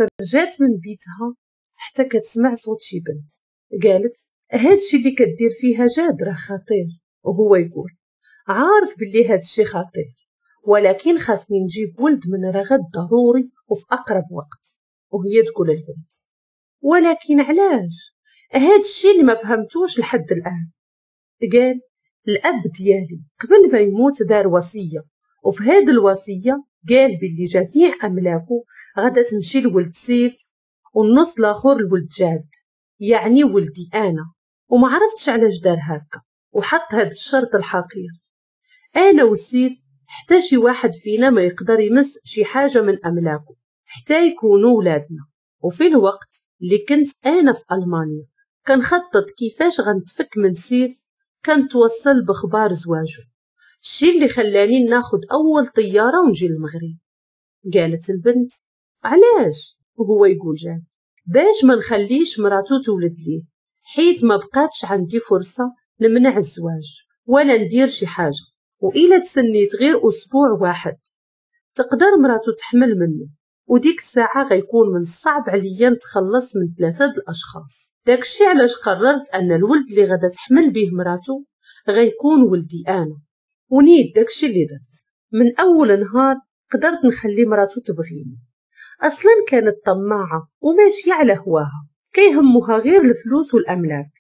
خرجات من بيتها حتى كتسمع صوت شي بنت. قالت هادشي اللي كدير فيها جاد راه خطير. وهو يقول عارف باللي هادشي خطير، ولكن خاصني نجيب ولد من رغد ضروري وفي أقرب وقت. وهي تقول البنت ولكن علاش؟ هادشي اللي ما فهمتوش لحد الآن. قال الأب ديالي قبل ما يموت دار وصية، وفي هاد الوصية قال باللي جميع أملاكه غادا تمشي لولد سيف والنص الآخر لولد جاد، يعني ولدي أنا. وما عرفتش علاش دار هكا وحط هاد الشرط الحقير. أنا وسيف حتى شي واحد فينا ما يقدر يمس شي حاجة من أملاكه حتى يكونوا ولادنا. وفي الوقت اللي كنت أنا في ألمانيا كنخطط كيفاش غنتفك من سيف، كنتوصل بخبار زواجه، الشي اللي خلاني ناخد أول طيارة ونجي للمغرب. قالت البنت علاش؟ وهو يقول جاد باش ما نخليش مراتو تولد ليه، حيت ما بقاتش عندي فرصة نمنع الزواج ولا ندير شي حاجة، وإلا تسنيت غير أسبوع واحد تقدر مراتو تحمل منه، وديك الساعة غيكون من الصعب عليا نتخلص من 3 الأشخاص. داكشي علاش قررت أن الولد اللي غادا تحمل به مراتو غيكون ولدي أنا. ونيت داكشي اللي درت. من أول نهار قدرت نخلي مراتو تبغيني. أصلا كانت طماعة وماشية على هواها، كيهمها غير الفلوس والأملاك.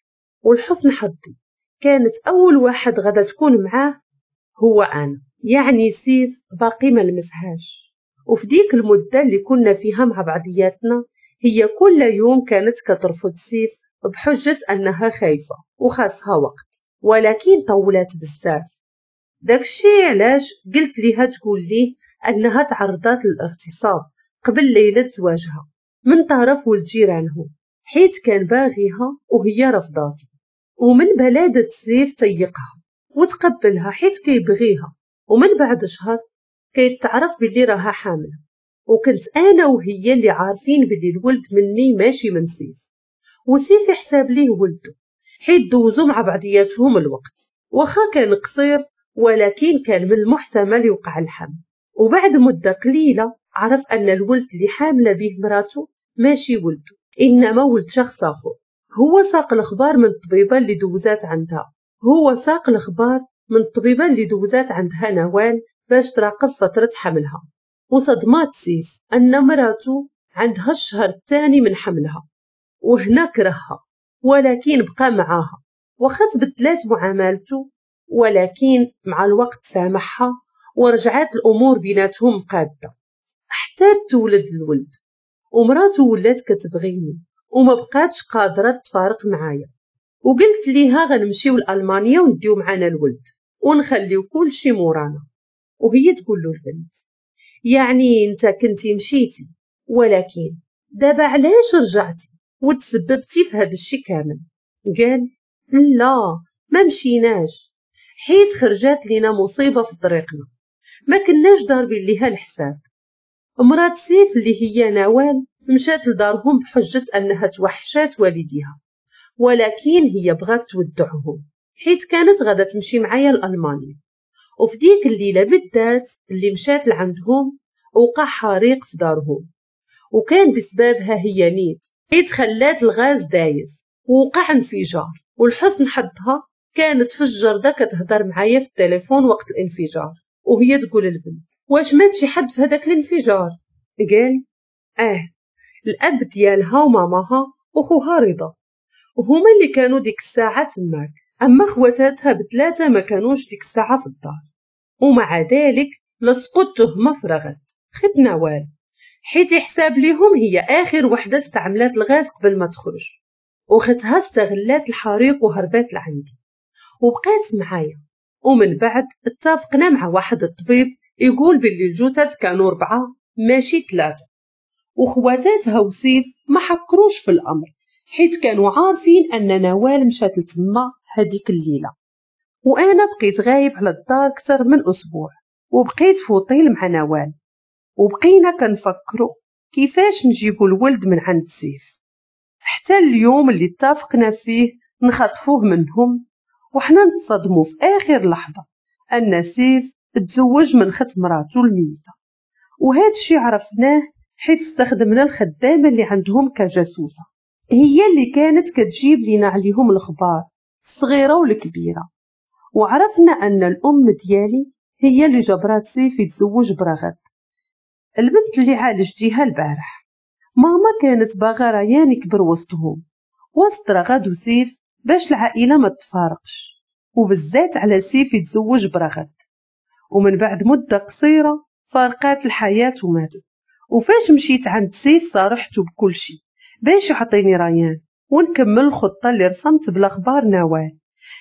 والحسن حظي كانت أول واحد غادا تكون معاه هو أنا، يعني سيف باقي ما لمسهاش. وفي ديك المدة اللي كنا فيها مع بعضياتنا هي كل يوم كانت كترفض سيف بحجة أنها خايفة وخاصها وقت، ولكن طولات بزاف. داكشي علاش قلت ليها تقول ليه أنها تعرضت للاغتصاب قبل ليلة زواجها من طرف ولد جيرانهم، حيت كان باغيها وهي رفضات. ومن بلادة سيف تيقها وتقبلها حيت كيبغيها. ومن بعد شهر كيتعرف باللي راها حاملة، وكنت أنا وهي اللي عارفين باللي الولد مني ماشي من سيف، وسيف يحسب ليه ولده حيت دوزو مع بعضياتهم الوقت، واخا كان قصير ولكن كان من المحتمل يوقع الحمل. وبعد مدة قليلة عرف أن الولد اللي حاملة به مراته ماشي ولده، إنما ولد شخص آخر. هو ساق الأخبار من الطبيبة اللي دوزات عندها، هو ساق الأخبار من الطبيبة اللي دوزات عندها نوال باش تراقب فترة حملها. وصدمات سيف أن مراته عندها الشهر الثاني من حملها، وهنا كرهها ولكن بقى معاها، واخا تبدلات معاملته ولكن مع الوقت سامحها ورجعت الأمور بيناتهم قادة حتى تولد الولد. ومراته ولات كتبغيني وما بقاتش قادرة تفارق معايا، وقلت ليها غنمشيو لألمانيا ونديو معانا الولد ونخليو كل شي مورانا. وهي تقول له البنت يعني انت كنتي مشيتي، ولكن دابا علاش رجعتي وتسببتي في هذا الشي كامل؟ قال لا ما مشيناش حيت خرجات لينا مصيبة في طريقنا، ما كناش ضاربين ليها الحساب. مرات سيف اللي هي نوال مشات لدارهم بحجة أنها توحشات والديها، ولكن هي بغات تودعهم حيت كانت غادا تمشي معايا لألمانيا. وفي ديك الليلة بالذات اللي مشات لعندهم وقع حريق في دارهم، وكان بسببها هي نيت حيت خلات الغاز دايز ووقع انفجار. والحسن حظها كانت في الجردة كتهضر معايا في التليفون وقت الانفجار، وهي تقول البنت واش مات شي حد في هذاك الانفجار؟ قال الاب ديالها وماماها وخوها رضا، وهما اللي كانوا ديك الساعة تماك، اما خواتاتها بثلاثة ما كانوش ديك الساعة في الدار. ومع ذلك لصقوا التهمة في رغد خت نوال، حيت يحساب ليهم هي اخر وحده استعملات الغاز قبل ما تخرج، وختها استغلات الحريق وهربات لعندي وبقات معايا. ومن بعد اتفقنا مع واحد الطبيب يقول باللي الجثث كانوا 4 ماشي 3، وخواتاتها وسيف ما حكروش في الامر حيت كانوا عارفين ان نوال مشات لتما هذيك الليلة. وانا بقيت غايب على الدار اكثر من اسبوع، وبقيت فوطيل مع نوال، وبقينا كنفكروا كيفاش نجيبوا الولد من عند سيف، حتى اليوم اللي اتفقنا فيه نخطفوه منهم. وحنا نتصدموا في اخر لحظة ان سيف تزوج من خت مراته الميتة، وهذا الشيء عرفناه حيت استخدمنا الخدامة اللي عندهم كجاسوسة، هي اللي كانت كتجيب لينا عليهم الأخبار الصغيرة والكبيرة. وعرفنا أن الأم ديالي هي اللي جبرات سيف يتزوج برغد، البنت اللي عالجتيها البارح. ماما كانت باغا ريان يكبر وسطهم، وسط رغد وسيف، باش العائلة ما تفارقش، وبالذات على سيف يتزوج برغد. ومن بعد مدة قصيرة فارقات الحياة وماتت. وفاش مشيت عند سيف صارحته بكل شيء باش يعطيني ريان ونكمل الخطة اللي رسمت بالأخبار نوال،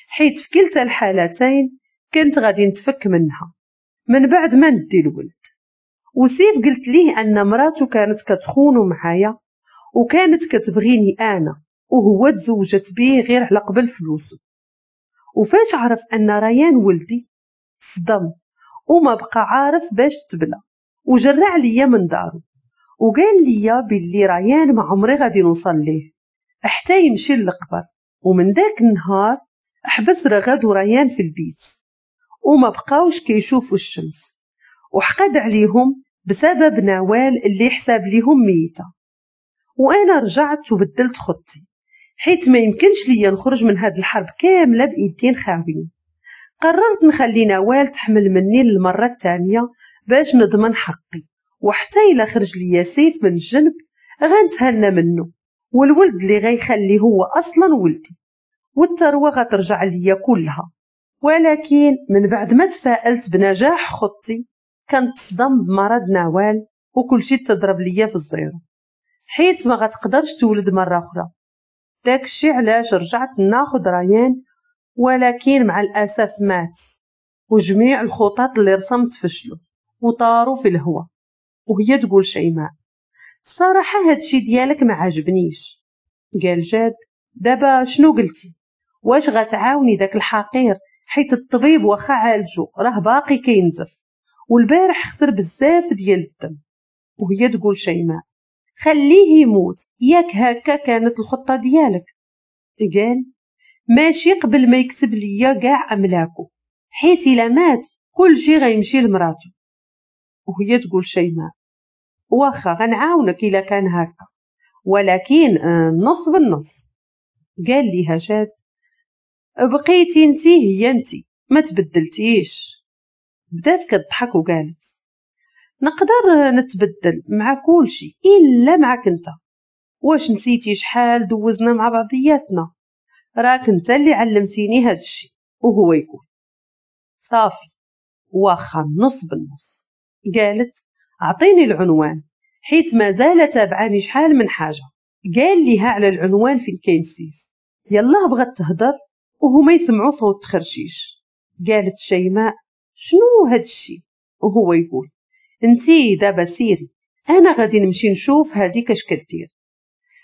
حيت في كلتا الحالتين كنت غادي نتفك منها من بعد ما ندي الولد. وسيف قلت ليه أن مراته كانت كتخونه معايا وكانت كتبغيني أنا، وهو تزوجت بيه غير على قبل فلوسه. وفاش عرف أن ريان ولدي صدم وما بقى عارف باش تبلى، وجرع ليا من دارو وقال ليا باللي ريان ما عمري غادي نوصل ليه حتى يمشي للقبر. ومن داك النهار حبس رغد وريان في البيت وما بقاوش كيشوفوا الشمس، وحقد عليهم بسبب نوال اللي حساب ليهم ميتة. وانا رجعت وبدلت خطتي، حيت ما يمكنش ليا نخرج من هاد الحرب كاملة بايدين خاويين. قررت نخلي نوال تحمل مني للمرة الثانية باش نضمن حقي، وحتى إلا خرج ليا سيف من الجنب غنتهنى منه، والولد اللي غيخلي هو أصلا ولدي، والثروة غترجع ليا كلها. ولكن من بعد ما تفائلت بنجاح خطتي كنتصدم بمرض نوال وكل شيء تضرب ليا في ال zéro، حيت ما غتقدرش تولد مرة أخرى. داكشي علاش رجعت ناخد ريان، ولكن مع الأسف مات، وجميع الخطط اللي رسمت فشلوا وطاروا في الهواء. وهي تقول شيماء الصراحة هادشي ديالك ما عجبنيش. قال جاد دابا شنو قلتي؟ واش غتعاوني داك الحقير؟ حيت الطبيب واخا عالجو راه باقي كينزف، والبارح خسر بزاف ديال الدم. وهي تقول شيماء خليه يموت، ياك هكا كانت الخطة ديالك؟ قال ماشي قبل ما يكتب ليا كاع املاكو، حيت الا مات كل شي غيمشي لمراتو. وهي تقول شيماء واخا غنعاونك الا كان هكا، ولكن نص بالنص. قال ليها جاد بقيتي انتي هي انتي، ما تبدلتيش. بدات كتضحك وقالت نقدر نتبدل مع كل شيء الا معك انت. واش نسيتي شحال دوزنا مع بعضياتنا؟ راك انت اللي علمتيني هاد الشيء. وهو يقول صافي واخا نص بالنص. قالت اعطيني العنوان حيت مازال تابعاني شحال من حاجة. قال ليها على العنوان فين كاين سيف. يلا بغات تهضر وهما يسمعوا صوت تخرشيش. قالت شيماء شنو هاد الشيء؟ وهو يقول انتي دابا سيري، انا غادي نمشي نشوف هاديك اش كدير،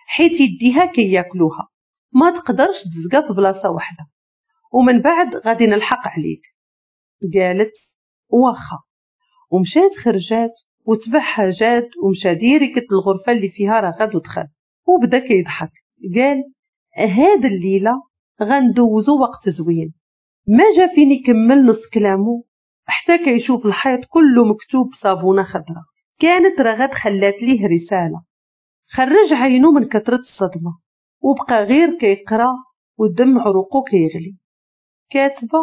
حيت يديها كياكلوها ما تقدرش تزقى في بلاصة واحدة، ومن بعد غادي نلحق عليك. قالت واخا، ومشات خرجات وتبعها جاد ومشى direct الغرفة اللي فيها رغد ودخل وبدا كيضحك. قال هاد الليلة غندوزو وقت زوين. ما جا فين يكمل نص كلامه حتى كيشوف الحيط كله مكتوب بصابونه خضراء. كانت رغد خلات ليه رسالة. خرج عينه من كثرة الصدمة وبقى غير كيقرا والدم عروقو كيغلي. كاتبه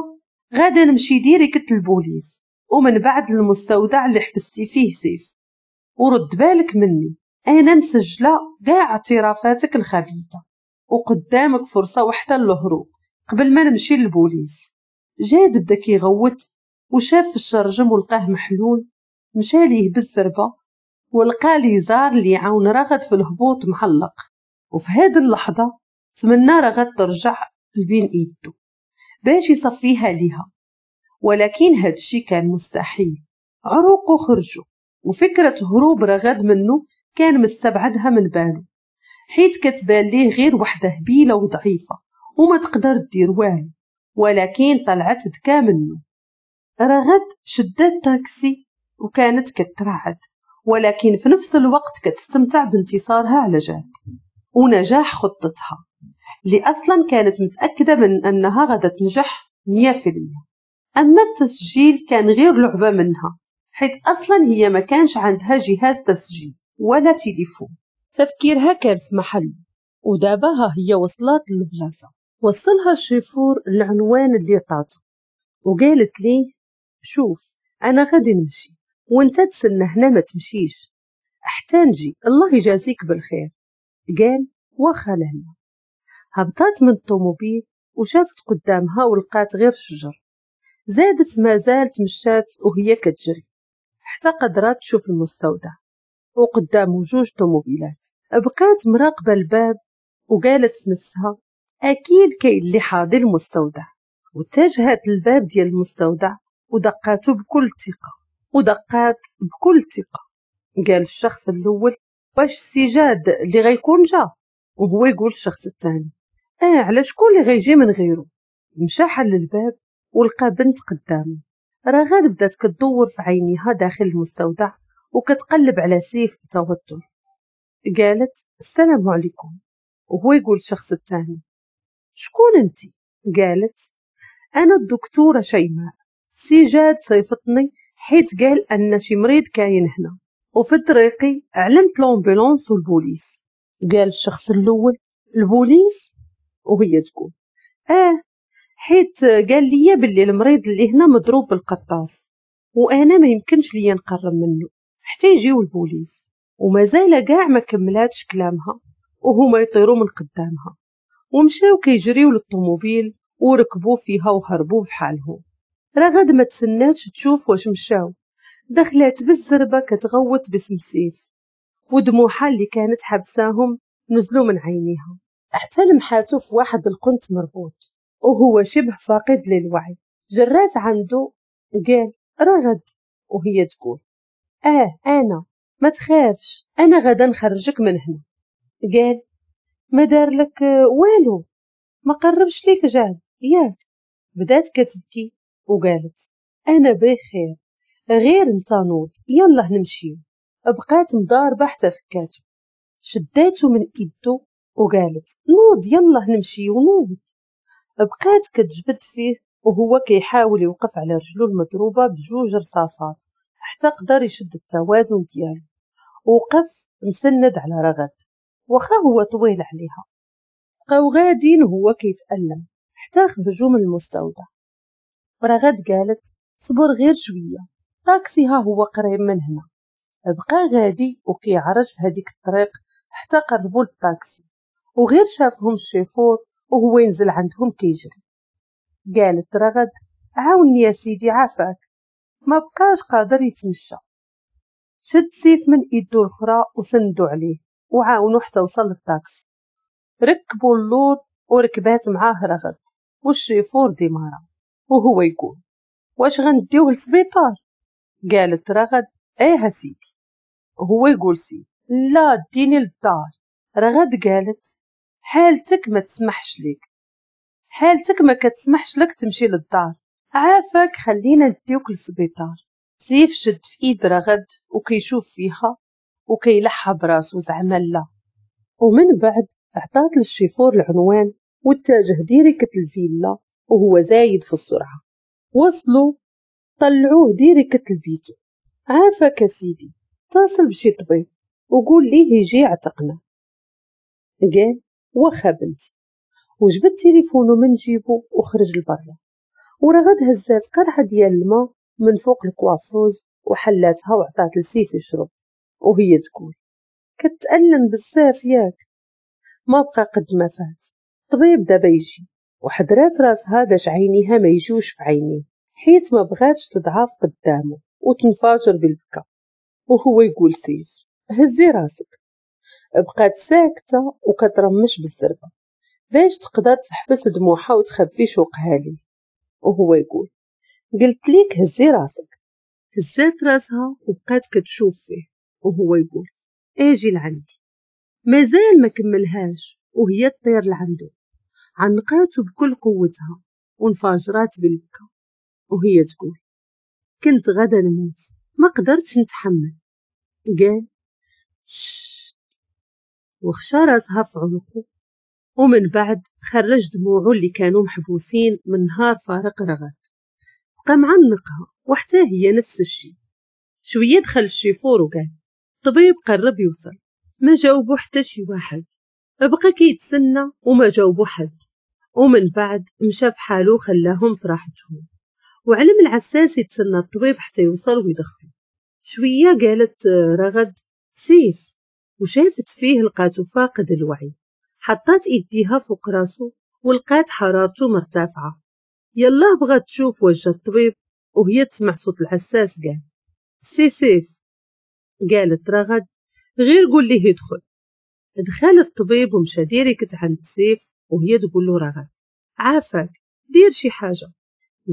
غادا نمشي direct للبوليس ومن بعد المستودع اللي حبستي فيه سيف، ورد بالك مني، انا مسجله كاع اعترافاتك الخبيثة، وقدامك فرصة واحدة للهروب قبل ما نمشي للبوليس. جاد بدا كيغوت وشاف في الشرجم ولقاه محلول. مشى ليه بالزربه ولقى ليزار اللي عاون رغد في الهبوط معلق. وفي هذه اللحظة تمنى رغد ترجع لبين ايده باش يصفيها ليها، ولكن هادشي كان مستحيل. عروقه خرجوا، وفكرة هروب رغد منه كان مستبعدها من باله، حيت كتبان ليه غير وحده هبيله وضعيفه وما تقدر دير والو، ولكن طلعت ذكا منه. رغد شدت تاكسي وكانت كترعد، ولكن في نفس الوقت كتستمتع بانتصارها على جاد ونجاح خطتها اللي أصلا كانت متأكدة من أنها غادا تنجح 100%. أما التسجيل كان غير لعبة منها، حيث أصلا هي ما كانش عندها جهاز تسجيل. ولا تليفون. تفكيرها كان في محله، ودابا ها هي وصلت للبلاصة. وصلها الشيفور العنوان اللي عطاتو وقالت ليه شوف أنا غادي نمشي وانت تسنى هنا ما تمشيش حتى نجي، الله يجازيك بالخير. قال واخا لهنا. هبطات من الطوموبيل وشافت قدامها ولقات غير الشجر. زادت ما زالت مشات وهي كتجري حتى قدرات تشوف المستودع وقدامه جوج طوموبيلات. بقات مراقبة الباب وقالت في نفسها أكيد كاين اللي حاضر المستودع. واتجهت للباب ديال المستودع ودقاته بكل ثقة ودقات بكل ثقة. قال الشخص الأول واش السي جاد اللي غيكون جا؟ وهو يقول الشخص الثاني على شكون اللي غيجي من غيره؟ مشى حل الباب ولقى بنت قدامه. رغد بدات كتدور في عينيها داخل المستودع وكتقلب على سيف بتوتر. قالت السلام عليكم. وهو يقول الشخص الثاني شكون انتي؟ قالت انا الدكتورة شيماء، سي جاد صيفطني حيت قال ان شي مريض كاين هنا، وفي طريقي علمت l'ambulance والبوليس. قال الشخص الاول البوليس؟ وهي تقول حيت قال لي باللي المريض اللي هنا مضروب بالقرطاس وانا ما يمكنش ليا نقرب منه حتى يجيو البوليس. ومازال كاع ما كملاتش كلامها وهما يطيروا من قدامها ومشاو كيجريو للطوموبيل وركبوا فيها وهربوا بحالهم. رغد ما تسناتش تشوف واش مشاو، دخلات بالزربه كتغوت باسم سيف ودموعها اللي كانت حبساهم نزلوا من عينيها حتى لمحاتو في واحد القنت مربوط وهو شبه فاقد للوعي. جرات عنده قال رغد، وهي تقول انا ما تخافش انا غدا نخرجك من هنا. قال ما دار لك والو، ما قربش ليك جاد ياك؟ بدات كتبكي وقالت انا بخير غير انت نوض يلا نمشيو. بقات مضاربة حتى فكاتو، شداتو من ايدو وقالت نوض يلا نمشيو نوض. بقات كتجبد فيه وهو كيحاول يوقف على رجلو المضروبه بجوج رصاصات حتى قدر يشد التوازن ديالو. وقف مسند على رغد واخا هو طويل عليها. بقاو غادين وهو كيتألم حتى خرجوا من المستودع. رغد قالت صبر غير شوية، طاكسي ها هو قريب من هنا. بقى غادي وكيعرج في هذيك الطريق حتى قربوا للطاكسي، وغير شافهم الشيفور وهو ينزل عندهم كيجري. قالت رغد عاوني يا سيدي عافاك، ما بقاش قادر يتمشى. شد سيف من ايدو الاخرى وسندو عليه وعاونو حتى وصل للطاكسي. ركبوا اللور وركبات معاه رغد والشيفور démarra وهو يقول واش غنديوه للسبيطار؟ قالت رغد ايه سيدي. وهو يقول سيدي لا ديني للدار. رغد قالت حالتك ما تسمحش لك، حالتك ما كتسمحش لك تمشي للدار، عافاك خلينا نديوك للسبيطار. سيف شد في ايد رغد وكيشوف فيها وكيلحها براسو زعما لا. ومن بعد عطات للشيفور العنوان واتجه direct الفيلا وهو زايد في السرعة. وصلوا طلعوه direct لبيتو. عافاك سيدي اتصل بشي طبيب وقول ليه يجي يعتقنا. قال واخا بنتي، وجبد تليفونه من جيبو وخرج لبرا. ورغد هزات قرعه ديال الماء من فوق ال coiffeuse وحلاتها وعطات لسيف يشرب وهي تقول كتألم بزاف ياك، ما بقى قد ما فات، طبيب دابا يجي. وحدرات راسها باش عينيها ما يجوش في عينيه حيت ما بغاتش تضعف قدامه وتنفجر بالبكا. وهو يقول سيف هزي راسك. بقات ساكته وكترمش بالزربه باش تقدر تحبس دموعها وتخبي شوقها ليه. وهو يقول قلت ليك هزي راسك. هزات راسها وبقات كتشوف فيه وهو يقول اجي لعندي. مازال ما كملهاش وهي تطير لعنده. عنقاته بكل قوتها وانفجرات بالبكا وهي تقول كنت غدا نموت ما قدرتش نتحمل. قال شت وخشى راسها في عنقه. ومن بعد خرج دموعه اللي كانوا محبوسين من نهار فارق رغد. بقى معنقها وحتى هي نفس الشيء. شوية دخل الشيفور وقال الطبيب قرب يوصل، ما جاوبو حتى شي واحد، بقى كيتسنى وما جاوبو حد. ومن بعد مشى في حالو خلاهم في راحتهم، وعلم العساس يتسنى الطبيب حتى يوصل ويدخلو. شوية قالت رغد سيف، وشافت فيه لقاتو فاقد الوعي. حطات ايديها فوق راسو ولقات حرارته مرتفعة. يلا بغات تشوف وجه الطبيب وهي تسمع صوت العساس قال سي سيف. قالت رغد غير قول ليه يدخل. دخل الطبيب ومشى direct عند سيف وهي تقول له رغد عافاك دير شي حاجة.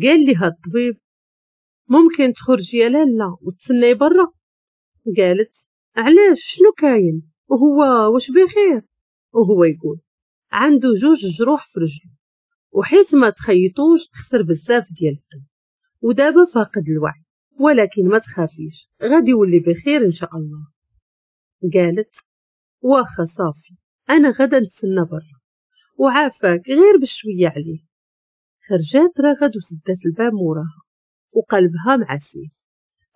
قال لها الطبيب ممكن تخرجي يا لالا وتسناي برا. قالت علاش شنو كاين وهو واش بخير؟ وهو يقول عنده 2 جروح في رجله وحيت ما تخيطوش خسر بزاف ديال الدم ودابا فاقد الوعي، ولكن ما تخافيش غادي يولي بخير ان شاء الله. قالت واخا صافي انا غدا نتسنى برا وعافاك غير بشوية عليه. خرجات رغد وسدات الباب موراها وقلبها مع سيف.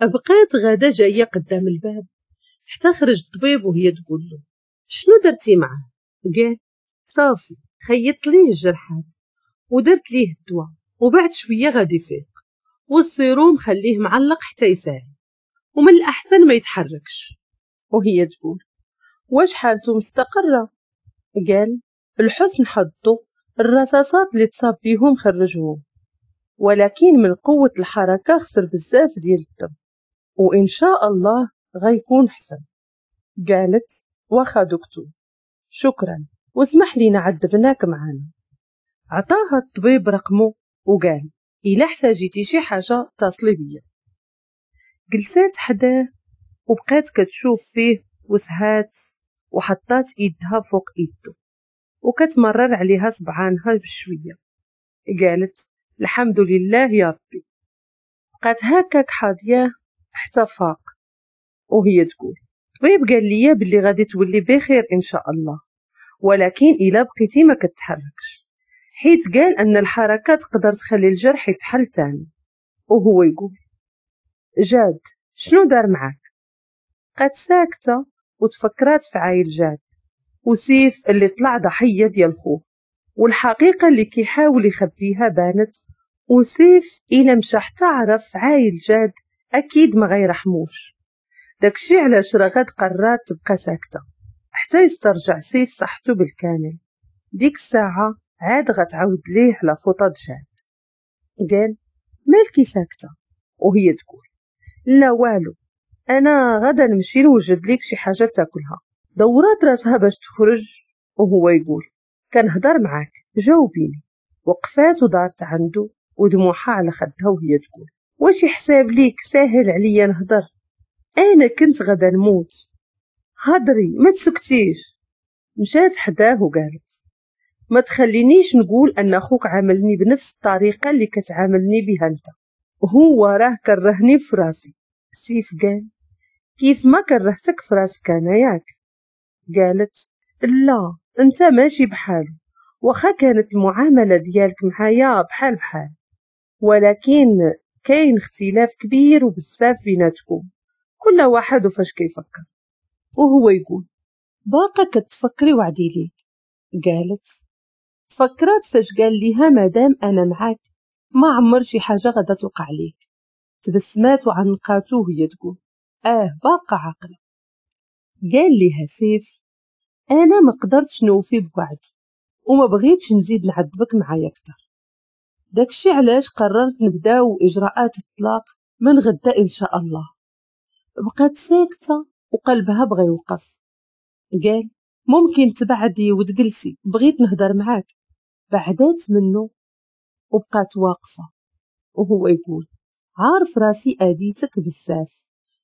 بقات غدا جاية قدام الباب حتى خرج الطبيب وهي تقول له شنو درتي معاه؟ قال صافي خيطت ليه الجرحات ودرت ليه الدواء وبعد شوية غادي يفيق، والسيروم خليه معلق حتى يسالي ومن الاحسن ما يتحركش. وهي تقول واش حالته مستقره؟ قال الحسن حظه الرصاصات اللي تصاب بيهم خرجوهم، ولكن من قوة الحركة خسر بزاف ديال الدم وان شاء الله غيكون حسن. قالت واخا دكتور شكرا واسمح لينا عذبناك معانا. عطاها الطبيب رقمه وقال إلا احتاجيتي شي حاجة اتصلي بيا. جلسات حداه وبقات كتشوف فيه وسهات وحطات ايدها فوق ايده وكتمرر عليها صبعانها بشوية. قالت الحمد لله يا ربي. بقات هكاك حاضياه حتى فاق وهي تقول الطبيب قال لي باللي غادي تولي بخير ان شاء الله، ولكن الا بقيتي ما كتحركش، حيت قال ان الحركة تقدر تخلي الجرح يتحل تاني. وهو يقول جاد شنو دار معاك؟ بقات ساكته وتفكرات في عايل جاد وسيف اللي طلع ضحية ديال خوه، والحقيقة اللي كيحاول يخبيها بانت، وسيف الا مشى حتى عرف عايل جاد اكيد ما غيرحموش. داكشي علاش رغد قررت تبقى ساكته حتى يسترجع سيف صحته بالكامل. ديك الساعة عاد غتعاود ليه على خطط جاد. قال مالكي ساكته؟ وهي تقول لا والو انا غدا نمشي نوجد ليك شي حاجة تاكلها. دورات راسها باش تخرج وهو يقول كنهضر معاك جاوبيني. وقفات ودارت عنده ودموعها على خدها وهي تقول واش حساب ليك ساهل عليا نهضر؟ انا كنت غدا نموت. هضري ما تسكتيش. مشات حداه وقالت ما تخلينيش نقول ان اخوك عاملني بنفس الطريقة اللي كتعاملني بها انت، هو راه كرهني في راسي. سيف قال كيف ما كرهتك في راسك انا ياك؟ قالت لا انت ماشي بحاله، واخا كانت المعاملة ديالك معايا بحال بحال، ولكن كاين اختلاف كبير وبزاف بيناتكم، كل واحد وفاش كيفكر. وهو يقول باقا كتفكري وعدي ليك. قالت تفكرات فاش قال ليها مادام انا معاك ما عمر شي حاجة غادا توقع ليك. تبسمات وعنقاتو وهي تقول باقا عاقلة. قال ليها سيف انا ما قدرتش نوفي بوعدي وما بغيتش نزيد نعذبك معايا اكثر، داكشي علاش قررت نبداو اجراءات الطلاق من غدا ان شاء الله. بقات ساكته وقلبها بغى يوقف. قال ممكن تبعدي وتجلسي بغيت نهضر معاك. بعدات منه وبقات واقفة وهو يقول عارف راسي اديتك بزاف،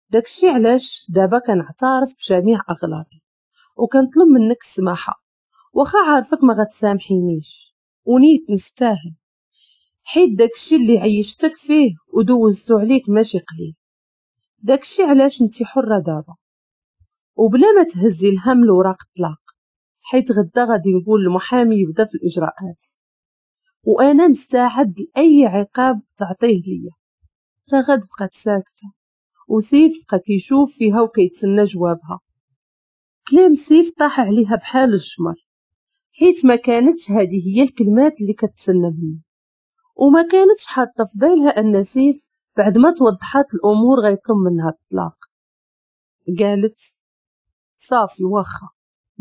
داكشي علاش دابا كنعترف بجميع اغلاطي وكنطلب منك السماحة، واخا عارفك ما غتسامحينيش ونيت نستاهل، حيت داكشي اللي عيشتك فيه ودوزتو عليك ماشي قليل، داكشي علاش انتي حره دابا وبلا ما تهزي الهم لوراق الطلاق، حيت غدا غادي نقول للمحامي يبدا في الاجراءات وانا مستعد لاي عقاب تعطيه ليا. رغد بقات ساكته وسيف بقى كيشوف فيها وكيتسنى جوابها. كلام سيف طاح عليها بحال الجمر، حيت ما كانتش هذه هي الكلمات اللي كتسنى منه، وما كانتش حاطه في بالها ان سيف بعد ما توضحات الامور غيطلب منها الطلاق. قالت صافي واخا.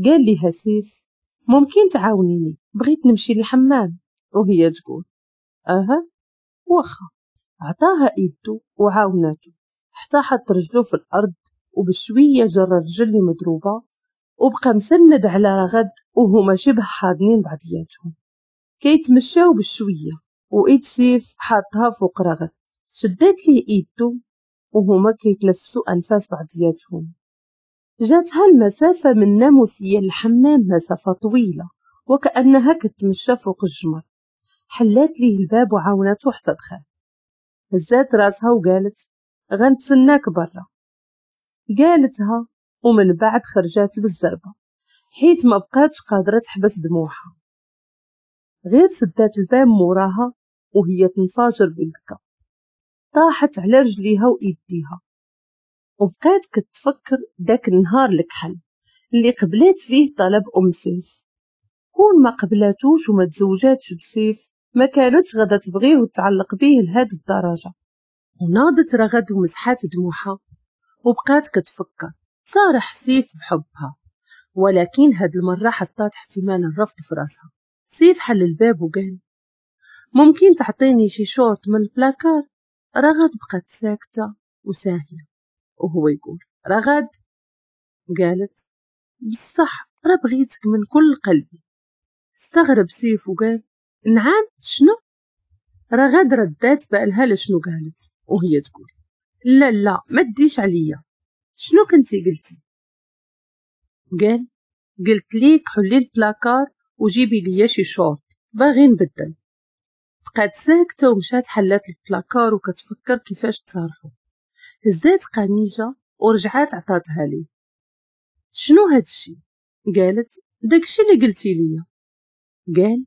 قال ليها سيف ممكن تعاونيني، بغيت نمشي للحمام. وهي تقول اها واخا. عطاها ايدو وعاوناتو حتى حط رجلو في الارض، وبشويه جر الرجل اللي مضروبة وبقى مسند على رغد، وهما شبه حاضنين بعضياتهم كيتمشاو بشوية، وايد سيف حاطها فوق رغد. شدات ليه ايدو وهما كيتنفسوا انفاس بعضياتهم. جاتها المسافة من ناموسيه للحمام مسافة طويلة، وكانها كتمشى فوق الجمر. حلات ليه الباب وعاونته حتى دخل. هزات راسها وقالت غنتسناك برا. قالتها ومن بعد خرجات بالزربه، حيت ما بقاتش قادرة تحبس دموعها. غير سدات الباب موراها وهي تنفجر بالبكا، طاحت على رجليها وايديها، وبقات كتفكر داك النهار الكحل اللي قبلات فيه طلب ام سيف. كون ما قبلاتوش وما تزوجاتش بسيف ما كانتش غادا تبغيه وتعلق به لهاد الدرجة. وناضت رغد ومسحات دموعها وبقات كتفكر. صارح سيف بحبها، ولكن هاد المرة حطات احتمال الرفض في راسها. سيف حل الباب وقال ممكن تعطيني شي شورت من البلاكار؟ رغد بقات ساكته وساهيه، وهو يقول رغد. قالت بصح راه بغيتك من كل قلبي. استغرب سيف وقال نعم شنو؟ رغد ردات بالها لشنو قالت وهي تقول لا لا ما تديش عليا، شنو كنتي قلتي؟ قال قلت ليك حلي البلاكار وجيبي ليا شي شورت باغي نبدل. بقات ساكته ومشات حلات البلاكار وكتفكر كيفاش تصارحو. هزات قميجه ورجعات عطاتها ليه. شنو هادشي؟ قالت داكشي اللي قلتي ليا. قال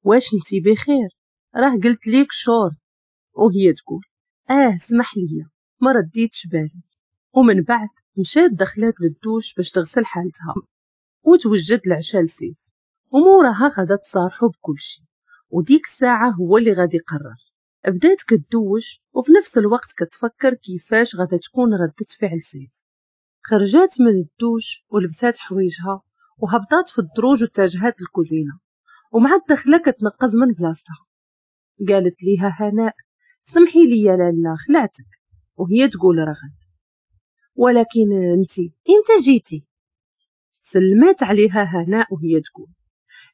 واش انتي بخير؟ راه قلت ليك شورت. وهي تقول سمح ليا ما رديتش بالي. ومن بعد مشات دخلات للدوش باش تغسل حالتها وتوجد العشاء لسيف، وموراها غادا تصارحو بكلشي، وديك الساعة هو اللي غادي يقرر. بدات كتدوش وفي نفس الوقت كتفكر كيفاش غادا تكون ردة فعل سيف. خرجات من الدوش ولبسات حوايجها وهبطات في الدروج واتجهات للكوزينه، ومع الدخلة كتنقز من بلاصتها. قالت ليها هناء سمحي لي يا لاله خلعتك. وهي تقول رغد ولكن انتي امتى جيتي؟ سلمات عليها هناء وهي تقول